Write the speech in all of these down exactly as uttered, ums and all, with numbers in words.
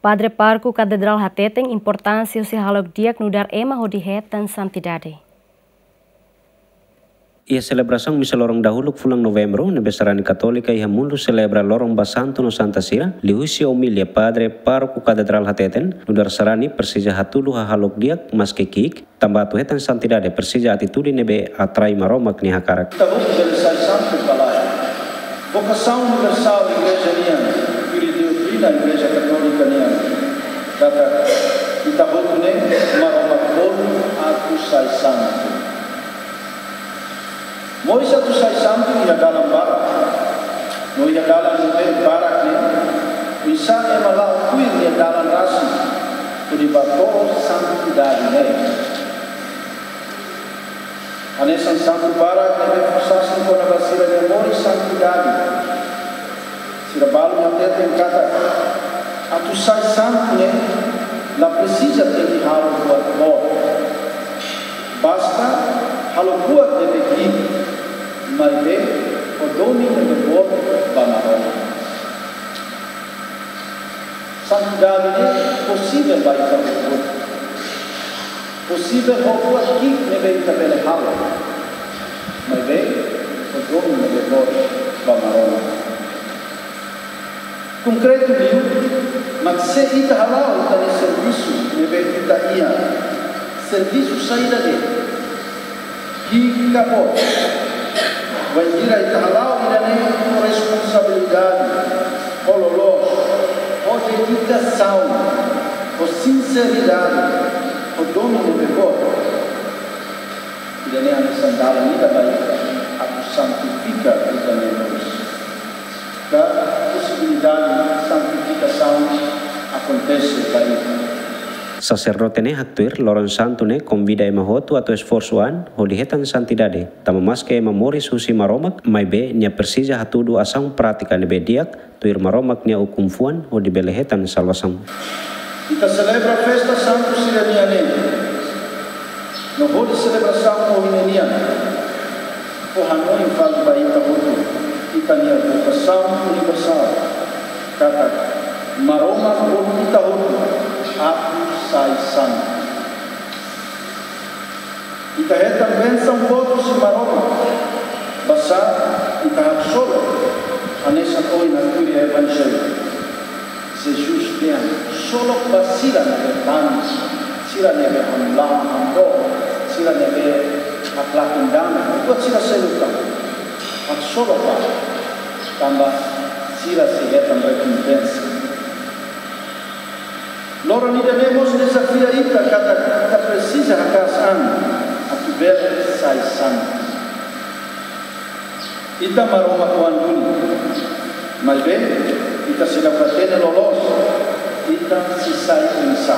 Padre Pároku Katedrál hateten importánsia husi hahalok di'ak nu'udar ema hodi hetan santidade. Iha selebrasaun misa loron dahuluk fulan Novembru, ne'ebé sarani Katólika iha mundu selebra loron ba santu no santa sira, liuhusi omilia Padre Pároku Katedrál hateten, nu'udar sarani presiza hatudu hahalok di'ak maske ki'ik, tanba atu hetan santidade presiza atitude ne'ebé atrai Maromak nia hakarak. Ita hotu bele sai santu ka lae. Vokasaun universál Igreja nian, tuir doutrina Igreja Katólika nian, katak ita hotu ne'e Maromak bolu atu sai santu. Moris atu sai santu iha dalan barak. No iha dalan ne'ebé barak ne'e, oinsá ema la'o tuir nia dalan rasik, hodi bá to'o santidade ne'e. Hanesan santu barak ne'ebé fó sasin kona-ba sira-nia moris santidade. Sira balu hateten katak, atu sai santu ne'e, la presiza tenke halo buat boot. Basta halo buat ne'ebé di'ak, maibé ho domin ne'ebé boot ba Maromak. Santidade ne'e posivel ba ita hotu. Posivel ho buat ki'ik ne'ebé ita bele halo. Maibé ho domin ne'ebé boot ba Maromak. Konkretu liu, mak se ita hala'o ita-nia servisu ne'ebé ita iha, servisu saida de'it, ki'ik ka boot, bainhira ita hala'o ida-ne'e ho responsabilidade, ho loloos, ho dedikasaun, ho sinseridade, ho domin ne'ebé boot, ida-ne'e hanesan dalan ida ba ita atu santifika ita-nia moris. Ka posibilidade santifikasaun akontese ba ita. Saserdote ne'e haktuir, loron santu ne'e konvida ema hotu atu esforsu an hodi hetan santidade, tanba maske ema moris husi Maromak, maibé nia presiza hatudu asaun prátika ne'ebé di'ak, tuir Maromak nia ukun-fuan hodi bele hetan salvasaun. Ita selebra festa santu sira-nia ne'e, no hodi selebrasaun ohin ne'e nian, fó hanoin fali ba ita hotu, ita-nia vokasaun universál, katak Maromak bolu ita hotu atu sai santu. Ita hetan bensaun boot husi Maromak, basá ita haksolok, hanesan ohin iha Evanjellu. Jesus dehan, solok ba sira ne'ebé tanis, sira ne'ebé hamlaha hamdook, sira ne'ebé haklaken dame, buat sira seluk tan. Haksolok ba, tanba sira sei hetan rekompensa. Loron ida-ne'e mós dezafia ita katak ita presiza haka'as an atu bele sai santu. Ita Maromak oan duni, maibé ita seidauk hatene loloos ita sei sai oinsá.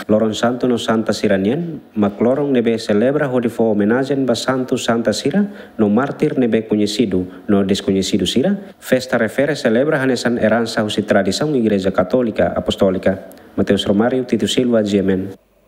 Loron santu no santa sira-nian mak loron ne'ebé selebra hodi fó omenajen ba santu santa sira no mártir ne'ebé koñesidu no deskoñesidu sira. Festa refere selebra hanesan eransa husi tradisaun Igreja Katólika Apostólika. Mateus Romário, Tito Silva, G M N.